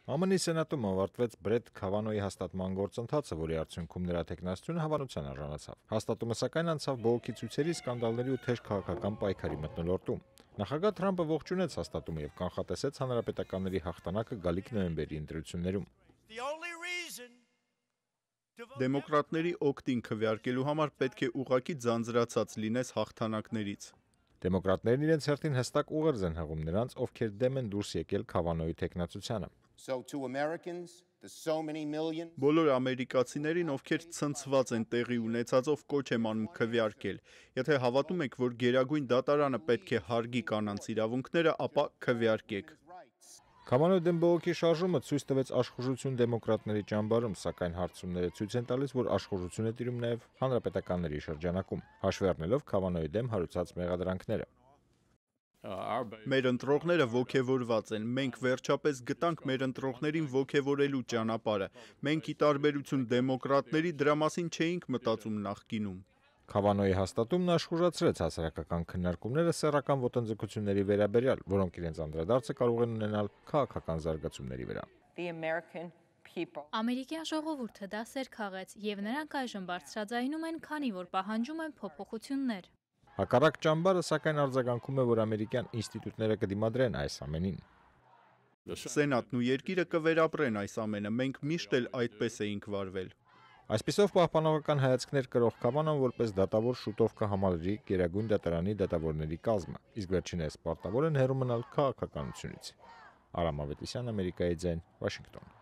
ԱՄՆ-ի Սենատում ավարտվեց Բրեթ Քավանոյի հաստատման գործընթացը, որի արդյունքում նրա թեկնածությունը հավանության արժանացավ։ Հաստատումը սակայն անցավ բողոքի ցույցերի, սկանդալների ու թեժ քաղաքական պայքարի մթնոլորտում։ Նախագահ Թրամփը ողջունեց հաստատումը եւ կանխատեսեց հանրապետականների հաղթանակը գալիք նոյեմբերի ընտրություններում։ Դեմոկրատների օգտին քվեարկելու համար պետք է ուղղակի ձանձրացած լինես հաղթանակներից։ Դեմոկրատներն իրենց հերթին հստակ ուղերձ են հղում նրանց, ովքեր դեմ են դուրս եկել Քավանոյի թեկնածությանը։ Բոլոր ամերիկացիներին, ովքեր ցնցված են տեղի ունեցածով, կոչ եմ անում քվեարկել։ Եթե հավատում եք, որ Գերագույն դատարանը պետք է հարգի կանանց իրավունքները, ապա քվեարկեք։ Քավանոյի դեմ բողոքի շարժումը ցույց տվեց աշխուժություն դեմոկրատների ճամբարում, սակայն հարցումները ցույց են տալիս, որ աշխուժություն է տիրում նաև հանրապետականների շրջանակում, հաշվի առնելով Քավանոյի դեմ հարուցած մեղադրանքները։ Մեր ընտրողները ոգևորված են։ Մենք վերջապես գտանք մեր ընտրողներին ոգևորելու ճանապարհը։ Մենք ի տարբերություն դեմոկրատների դրա մասին չէինք մտածում նախկինում։ Քավանոյի հաստատումն աշխուժացրեց հասարակական քննարկումները սեռական ոտնձգությունների վերաբերյալ, որոնք իրենց անդրադարձը կարող են ունենալ քաղաքական զարգացումների վրա։ Ամերիկյան ժողովուրդը դասեր քաղեց, եւ նրանք այժմ բարձրաձայնում են, քանի որ պահանջում են փոփոխություններ։ Հակառակ ճամբարը սակայն արձագանքում է, որ ամերիկյան ինստիտուտները կդիմադրեն այս ամենին։ Սենատն ու երկիրը կվերապրեն այս ամենը, մենք միշտ էլ այդպես էինք վարվել։ Այսպիսով պահպանողական հայացքներ կրող Քավանոն որպես դատավոր շուտով կհամալրի Գերագույն դատարանի դատավորների կազմը, իսկ վերջինս պարտավոր են հեռու մնալ քաղաքականությունից։ Արամ Ավետիսյան, Ամերիկայի ձայն, Վաշինգտոն։